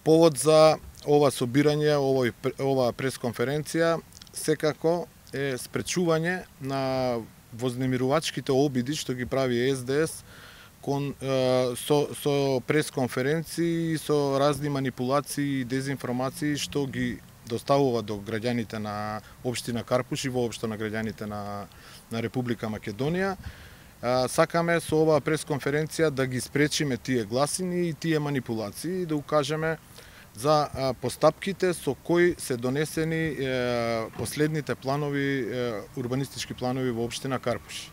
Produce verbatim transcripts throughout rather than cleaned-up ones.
Повод за ова собирање, овој, ова пресконференција, секако е спречување на вознемирувачките обиди што ги прави Ес Де Ес кон, е, со, со пресконференции, со разни манипулации и дезинформации што ги доставува до граѓаните на општина Карпуш и воопшто на граѓаните на, на Република Македонија. А, сакаме со оваа пресконференција да ги спречиме тие гласини и тие манипулации и да укажеме за а, постапките со кои се донесени е, последните планови, е, урбанистички планови во општина Карпуш.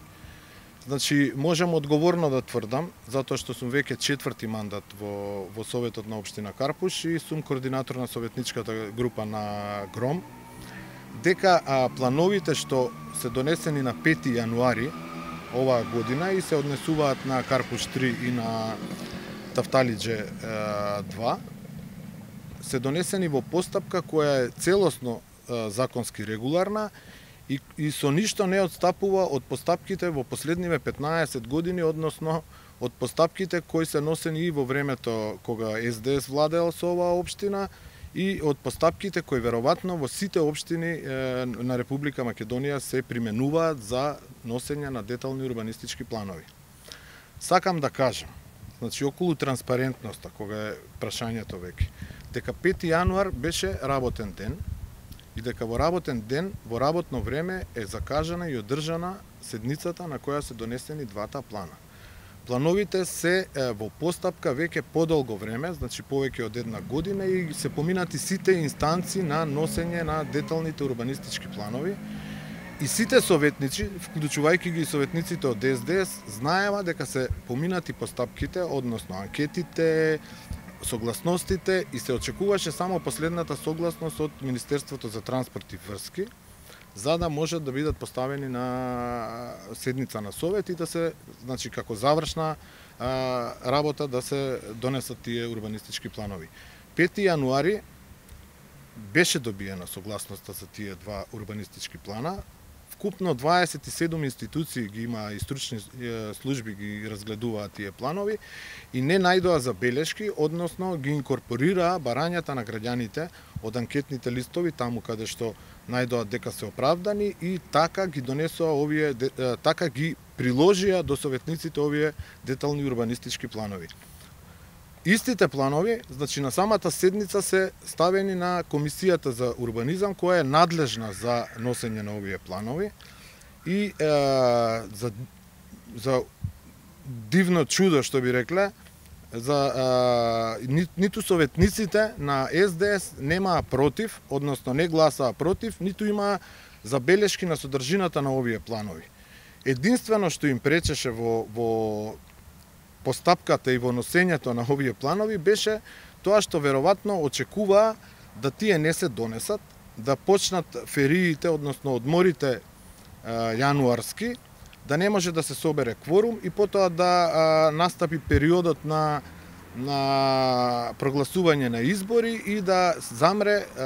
Значи, можам одговорно да тврдам, затоа што сум веќе четврти мандат во, во Советот на општина Карпуш и сум координатор на советничката група на Гром, дека а, плановите што се донесени на пети јануари оваа година и се однесуваат на Карпуш три и на Тафталиџе два, се донесени во постапка која е целосно е, законски регуларна и, и со ништо не отстапува од постапките во последниве петнаесет години, односно од постапките кои се носени и во времето кога Ес Де Ес владеел со оваа општина и од постапките кои веројатно во сите општини е, на Република Македонија се применуваат за носење на детални урбанистички планови. Сакам да кажам, значи околу транспарентноста, кога е прашањето веќе, дека пети јануар беше работен ден и дека во работен ден, во работно време е закажана и одржана седницата на која се донесени двата плана. Плановите се е, во постапка веќе подолго време, значи повеќе од една година и се поминати сите инстанции на носење на деталните урбанистички планови. И сите советници, вклучувајќи ги советниците од Ес Де Ес, знаева дека се поминати постапките, односно анкетите, согласностите и се очекуваше само последната согласност од Министерството за транспорт и врски, за да можат да бидат поставени на седница на совет и да се, значи како завршна а, работа да се донесат тие урбанистички планови. пети јануари беше добиена согласноста за тие два урбанистички плана. Вкупно дваесет и седум институции ги има и стручни служби ги разгледуваат тие планови и не најдоа забелешки, односно ги инкорпорираа барањата на граѓаните од анкетните листови таму каде што најдоа дека се оправдани и така ги донесоа овие, така ги приложија до советниците овие детални урбанистички планови. Истите планови, значи на самата седница се ставени на Комисијата за урбанизам која е надлежна за носење на овие планови и е, за, за дивно чудо што би рекле, за е, ни, ниту советниците на Ес Де Ес немаа против, односно не гласаа против, ниту имаа забелешки на содржината на овие планови. Единствено што им пречеше во, во постапката и во носењето на овие планови беше тоа што веројатно очекуваа да тие не се донесат, да почнат фериите, односно одморите е, јануарски, да не може да се собере кворум и потоа да е, настапи периодот на на прогласување на избори и да замре е,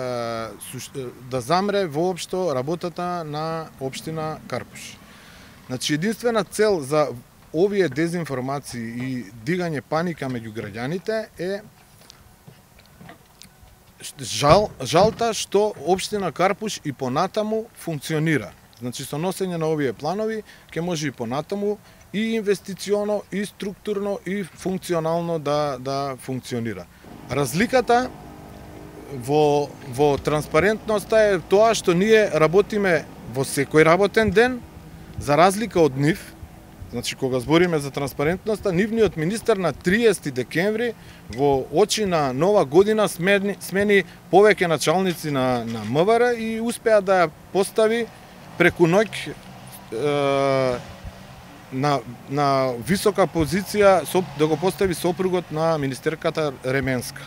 да замре воопшто работата на општина Карпуш. Значи единствена цел за овие дезинформации и дигање паника меѓу граѓаните е жал, жалта што општина Карпуш и понатаму функционира. Значи со носење на овие планови ќе може и понатаму и инвестиционо, и структурно, и функционално да, да функционира. Разликата во, во транспарентноста е тоа што ние работиме во секој работен ден, за разлика од нив. Значи, кога збориме за транспарентноста, нивниот министер на триесети декември во очи на нова година смени, смени повеќе началници на, на М В Р и успеа да ја постави преку ноќ е, на, на висока позиција, да го постави сопругот на министерката Ременска.